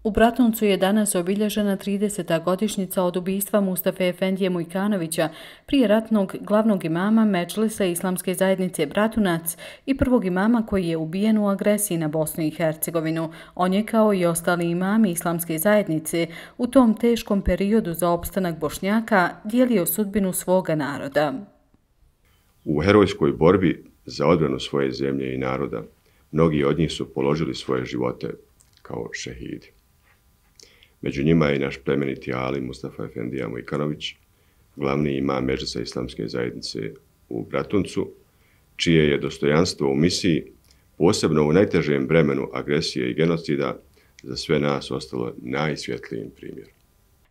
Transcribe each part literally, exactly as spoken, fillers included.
U Bratuncu je danas obilježena trideseta godišnjica od ubistva Mustafe Efendije Mujkanovića, prije ratnog glavnog imama Medžlisa Islamske zajednice Bratunac i prvog imama koji je ubijen u agresiji na Bosnu i Hercegovinu. On je, kao i ostali imami Islamske zajednice, u tom teškom periodu za opstanak Bošnjaka dijelio sudbinu svoga naroda. U herojskoj borbi za odbranu svoje zemlje i naroda mnogi od njih su položili svoje živote kao šehidi. Među njima je i naš plemeniti ali Mustafa Efendija Mujkanović, glavni imam Medžlisa Islamske zajednice u Bratuncu, čije je dostojanstvo u misiji, posebno u najtežem vremenu agresije i genocida, za sve nas ostalo najsvjetlijim primjerom.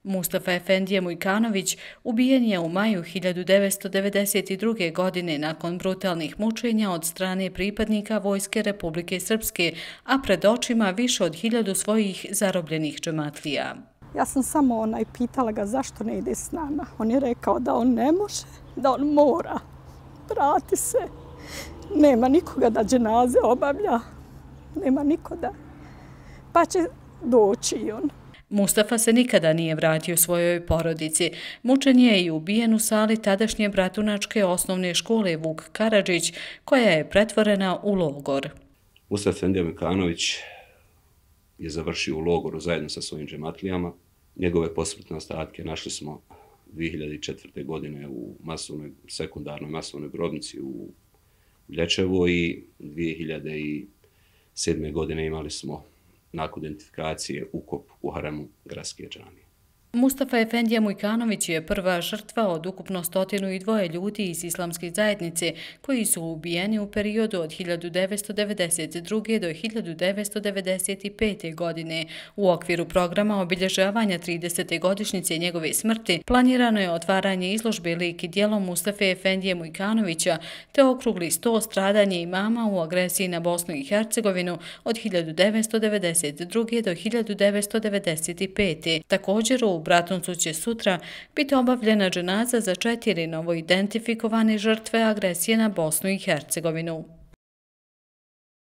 Mustafa Efendije Mujkanović ubijen je u maju hiljadu devetsto devedeset druge. godine nakon brutalnih mučenja od strane pripadnika Vojske Republike Srpske, a pred očima više od hiljadu svojih zarobljenih džematlija. Ja sam samo onaj pitala ga zašto ne ide s nama. On je rekao da on ne može, da on mora. Vrati se. Nema nikoga da dženaze obavlja. Nema nikoga. Pa će doći i on. Mustafa se nikada nije vratio svojoj porodici. Mučen je i ubijen u sali tadašnje bratunačke osnovne škole Vuk Karadžić, koja je pretvorena u logor. Mustafa Efendija Mujkanović je završio u logoru zajedno sa svojim džematlijama. Njegove posmrtne ostatke našli smo dvije hiljade četvrte. godine u masovnoj, sekundarnoj masovnoj grobnici u Lječevu i dvije hiljade sedme. godine imali smo nakon identifikacije ukop u haremu gradske džamije. Mustafa Efendija Mujkanović je prva žrtva od ukupno stotinu i dvoje ljudi iz Islamske zajednice koji su ubijeni u periodu od hiljadu devetsto devedeset druge. do hiljadu devetsto devedeset pete. godine. U okviru programa obilježavanja tridesete godišnjice njegove smrti planirano je otvaranje izložbe lik i djelo Mustafe Efendije Mujkanovića te okrugli sto stradanje imama u agresiji na Bosnu i Hercegovinu od hiljadu devetsto devedeset druge. do hiljadu devetsto devedeset pete. Također u Bratuncu će sutra biti obavljena dženaza za četiri novo identifikovane žrtve agresije na Bosnu i Hercegovinu.